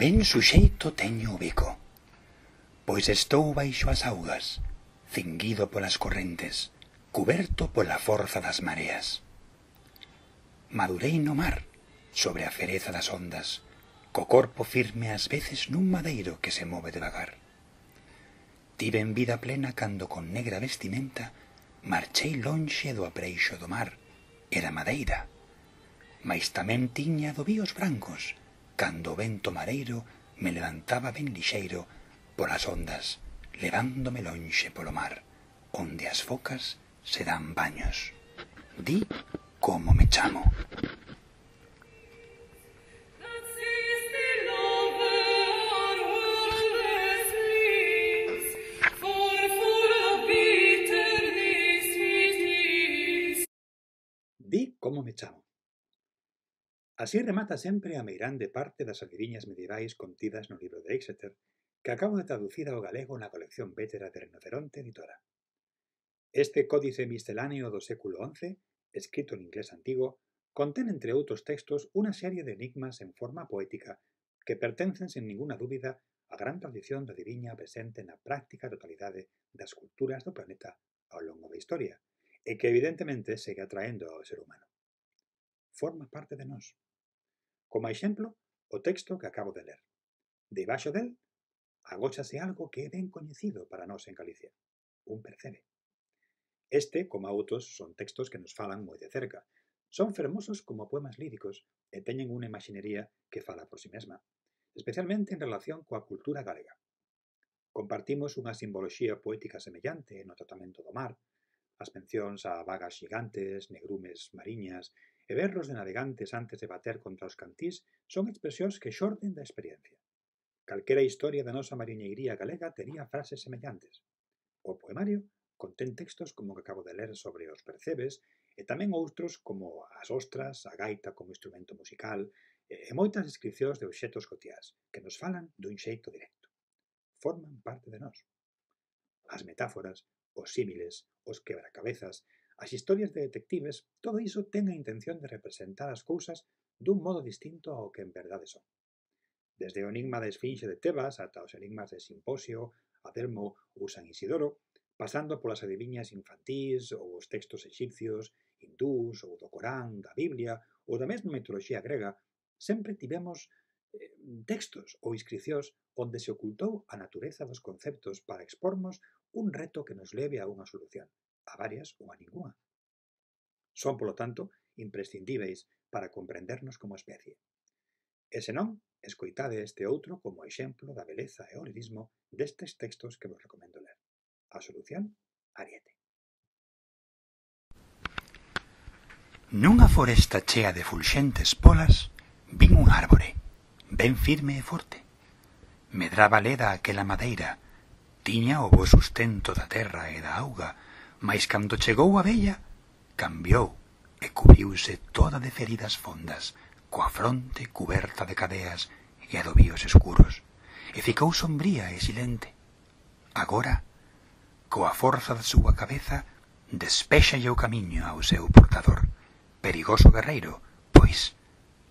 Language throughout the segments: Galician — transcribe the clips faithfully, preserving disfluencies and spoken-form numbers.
Ben suxeito teño o bico, pois estou baixo as augas, cinguido polas correntes, cuberto pola forza das mareas. Madurei no mar, sobre a fereza das ondas, co corpo firme ás veces nun madeiro que se move devagar. Tiven vida plena cando con negra vestimenta marchei lonxe do apreixo do mar, era madeira, mais tamén tiña dovíos brancos, cando o vento mareiro me levantaba ben lixeiro polas ondas, levándome lonxe polo mar, onde as focas se dan baños. Di como me chamo. Di como me chamo. Así remata sempre a meirande parte das adiviñas medievais contidas no libro de Exeter, que acabo de traducir ao galego na colección Vétera de Rinoceronte Editora. Este códice misceláneo do século once, escrito en inglés antigo, contén, entre outros textos, unha serie de enigmas en forma poética que pertencen, sen ninguna dúbida, á gran tradición da adiviña presente na práctica totalidade das culturas do planeta ao longo da historia, e que evidentemente segue atraendo ao ser humano. Forma parte de nós. Como exemplo, o texto que acabo de ler. Debaixo del, agóchase algo que é ben coñecido para nós en Galicia, un percebe. Este, como outros, son textos que nos falan moi de cerca. Son fermosos como poemas líricos e teñen unha imaxinería que fala por si mesma, especialmente en relación coa cultura galega. Compartimos unha simboloxía poética semellante no tratamento do mar, as mencións a vagas xigantes, negrumes mariñas e berros de navegantes antes de bater contra os cantís son expresións que xorden da experiencia. Calquera historia da nosa mariñeiría galega tería frases semellantes. O poemario contén textos como o que acabo de ler sobre os percebes e tamén outros como as ostras, a gaita como instrumento musical e moitas descripcións de obxetos cotiás que nos falan dun xeito directo. Forman parte de nós. As metáforas, os símiles, os quebracabezas, as historias de detectives, todo iso ten a intención de representar as cousas dun modo distinto ao que en verdade son. Desde o enigma da Esfinxe de Tebas ata os enigmas de Simposio, Adelmo ou San Isidoro, pasando polas adiviñas infantís ou os textos exipcios, hindús ou do Corán, da Biblia ou da mesma mitoloxía grega, sempre tivemos eh, textos ou inscricións onde se ocultou a natureza dos conceptos para expormos un reto que nos leve a unha solución, a varias ou a ningunha. Son, polo tanto, imprescindíveis para comprendernos como especie. E senón, escoitade este outro como exemplo da beleza e o lirismo destes textos que vos recomendo ler. A solución, Ariete. Nunha foresta chea de fulxentes polas, vin un árbore, ben firme e forte. Medraba leda aquela madeira, tiña o bo sustento da terra e da auga, mais cando chegou a vella, cambiou e cubriuse toda de feridas fondas, coa fronte cuberta de cadeas e adobios escuros, e ficou sombría e silente. Agora, coa forza da súa cabeza, despéxalle o camiño ao seu portador, perigoso guerreiro, pois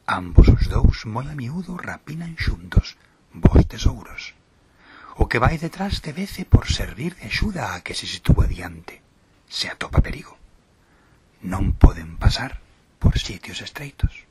ambos os dous moi a miúdo rapinan xuntos vos tesouros. O que vai detrás debece por servir de axuda a que se sitúa diante, se atopa perigo. Non poden pasar por sitios estreitos.